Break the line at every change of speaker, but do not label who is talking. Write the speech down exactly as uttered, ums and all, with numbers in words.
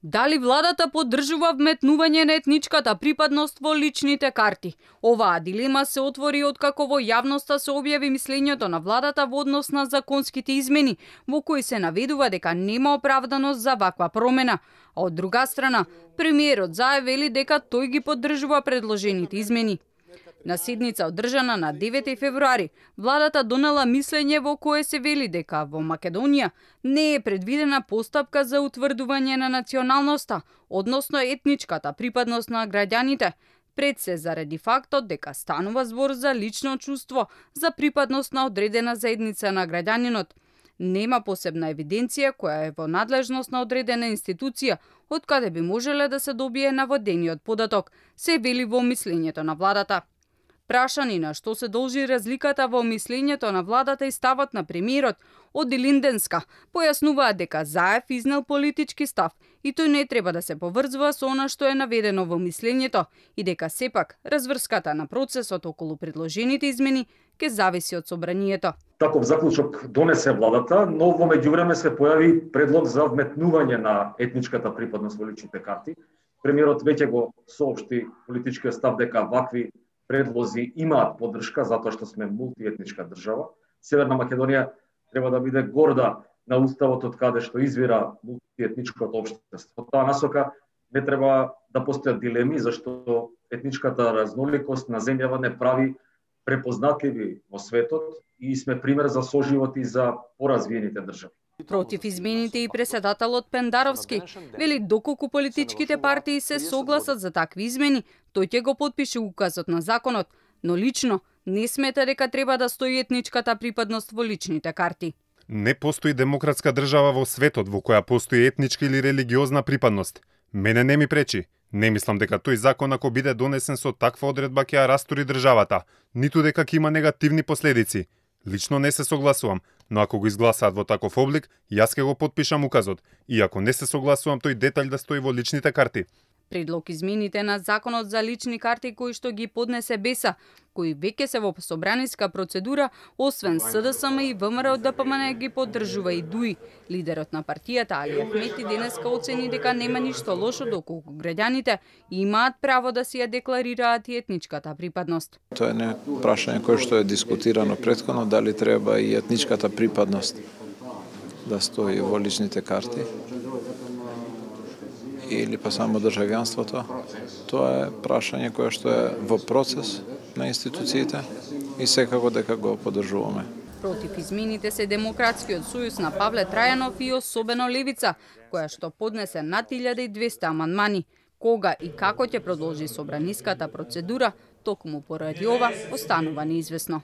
Дали владата поддржува вметнување на етничката припадност во личните карти? Оваа дилема се отвори откако во јавноста се објави мислењето на владата во однос на законските измени, во кои се наведува дека нема оправданост за ваква промена. А од друга страна, премиерот зајавили дека тој ги поддржува предложените измени. На седница одржана на девети февруари, владата донела мислење во кое се вели дека во Македонија не е предвидена постапка за утврдување на националноста, односно етничката припадност на граѓаните, пред се заради фактот дека станува збор за лично чувство за припадност на одредена заедница на граѓанинот. Нема посебна евиденција која е во надлежност на одредена институција, од каде би можеле да се добие наводениот податок, се вели во мислењето на владата. Прашани на што се должи разликата во мислењето на владата и ставот на премиерот, од Илинденска појаснуваат дека Заев изнел политички став и тој не треба да се поврзува со она што е наведено во мислењето и дека сепак разврската на процесот околу предложените измени ќе зависи од собранието.
Таков заклучок донесе владата, но во меѓувреме се појави предлог за вметнување на етничката припадност во личните карти. Премиерот веќе го соопшти политичкиот став дека вакви предлози имаат поддршка затоа што сме мултиетничка држава. Северна Македонија треба да биде горда на уставот од каде што извира мултиетничкото општество. Таа насока не треба да постојат дилеми, зашто етничката разноликост на земјава не прави препознатливи во светот и сме пример за соживот и за поразвиените држави.
Против измените и преседателот Пендаровски вели доколку политичките партии се согласат за такви измени, тој ќе го потпише указот на законот, но лично не смета дека треба да стои етничката припадност во личните карти.
Не постои демократска држава во светот во која постои етничка или религиозна припадност. Мене не ми пречи. Не мислам дека тој закон ако биде донесен со таква одредба ќе ја растури државата, ниту дека ќе има негативни последици. Лично не се согласувам, но ако го изгласаат во таков облик, јас ќе го потпишам указот, и ако не се согласувам тој детаљ да стои во личните карти.
Предлог измените на законот за лични карти кои што ги поднесе БЕСА, кои веќе се во собраниска процедура, освен СДСМ и ВМРО Д П М Н ги поддржува и ДУИ. Лидерот на партијата Али Ахмети денеска оцени дека нема ништо лошо доколку граѓаните имаат право да си ја декларираат и етничката припадност.
Тоа е не прашање кое што е дискутирано претходно, дали треба и етничката припадност да стои во личните карти или па само државјанството. Тоа е прашање кое што е во процес на институциите и секако дека го поддржуваме.
Против измените се Демократскиот сојуз на Павле Трајанов и особено Левица, која што поднесе над илјада и двесте амандмани. Кога и како ќе продолжи собраниската процедура, токму поради ова останува неизвестно.